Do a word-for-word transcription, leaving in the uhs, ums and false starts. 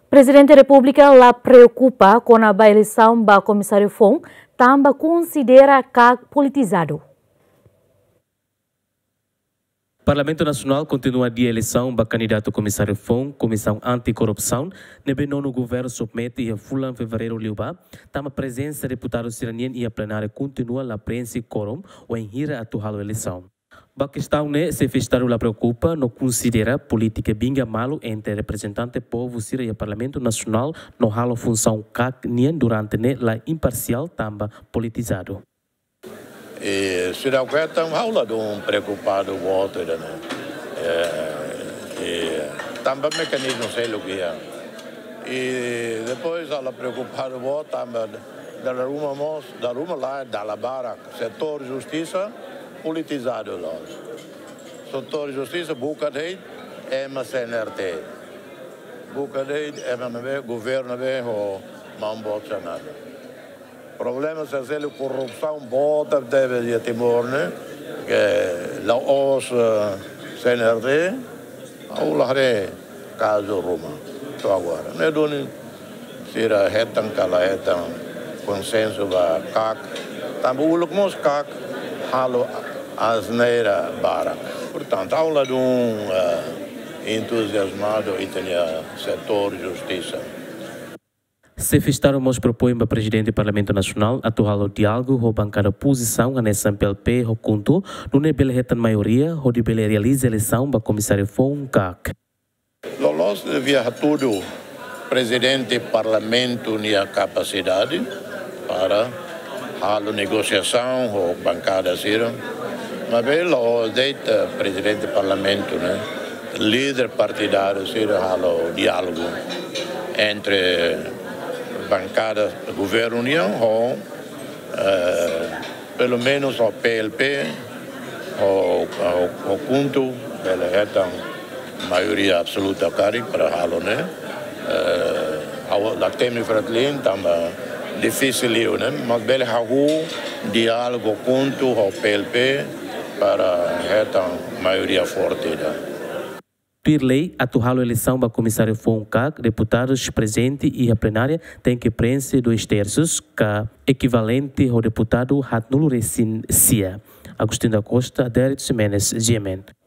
Prezidente Repúblika la preokupa kona-ba eleisaun ba komisáriu foun, tanba konsidera KAK politizadu. Parlamentu Nasionál kontinua adia eleisaun ba kandidatu komisáriu foun Komisaun Anti-Korrupsaun, ne'ebé nonu governu submete iha fulan fevereiru liubá, tanba prezensa deputadu sira-nian iha plenária kontinua la preenxe kuorum, wainhira atu halo eleisaun. Ba kestaun ne'e, Xefe Estadu la preokupa no konsidera polítika binga malu entre reprezentante povu sira iha Parlamentu Nasionál no halo funsaun KAK nian durante ne'e la imparsiál tanba politizadu. E sira kuetan ha'u ladún preokupadu boot ida-ne'e. E, e tanba mekanizmu seluk iha. E depois ha'u la preokupadu boot tanba dala ruma mós, dala ruma lae, dala barak. Setór justisa politizadu loos. Setór justisa buka de'it ema CNRT. Buka de'it ema ne'ebé, governu ne'ebé ho maun boot sira-nia. Problema sira seluk, korrupsaun boot tebes iha Timor ne'e, ke la'ós, eh, CNRT, ha'u la haree kazu ruma to'o agora. Ne'e duni sira hetan ka la hetan konsensu ba KAK, tanba uluk mós KAK halo asneira barak. Portantu, ha'u ladún, eh, entuziazmadu ita-nia setór justisa. Xefe Estadu mós propoin ba Prezidente Parlamentu Nasionál atu halo diálogu ho bankada opozisaun hanesan PLP ho KHUNTO, nune'e bele hetan maioria hodi bele realiza eleisaun ba komisáriu foun KAK. Loloos devia hatudu Prezidente Parlamentu nia kapasidade para halo negosiasaun ho bankada sira. Maibé la'ós de'it, eh, Prezidente Parlamentu ne'e, líder partidáriu sira halo diálogu entre bankada governu nian ho, eh, pelumenus ho PLP, ho, ho, ho KHUNTO, bele hetan maioria absoluta karik para halo ne'e. Eh, ha'u la temi Fretilin tanba difisil liu ne'e, mas bele hahú diálogu KHUNTO ho PLP para hetan maioria forte ida. Tuir lei, atu halo eleisaun ba komisáriu foun KAK, deputadus prezente iha plenária tenke preenxe dois terços, ka ekivalente ho deputadu haatnulu resin sia. Agostinho da Costa, Adérito Ximenes, GMN.